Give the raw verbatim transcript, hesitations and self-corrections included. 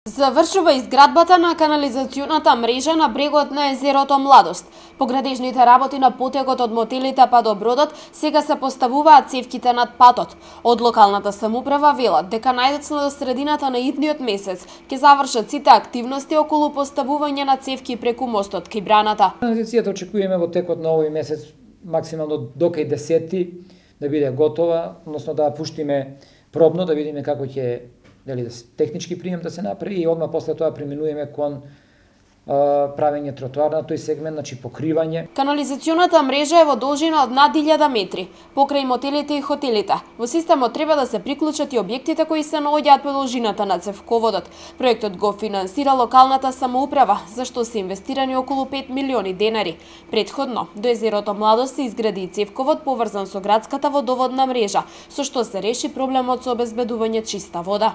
Завршува изградбата на канализационата мрежа на брегот на езерото Младост. По градежните работи на потекот од мотелите па до бродот сега се поставуваат цевките над патот. Од локалната самоуправа велат дека најдоцна до средината на идниот месец ќе завршат сите активности околу поставување на цевки преку мостот кај браната. Канализацијата очекуваме во текот на овој месец максимално до кај десети да биде готова, односно да пуштиме пробно да видиме како ќе дали да технички прием да се направи и одма после тоа преминуваме кон а, правење тротоар на тој сегмент, значи покривање. Канализационата мрежа е во должина од над илјада метри, покрај мотелите и хотелите. Во системот треба да се приклучат и објектите кои се наоѓаат по должината на цевководот. Проектот го финансира локалната самоуправа, за што се инвестирани околу пет милиони денари. Претходно, до езерото Младост се изгради и цевковод поврзан со градската водоводна мрежа, со што се реши проблемот со обезбедување чиста вода.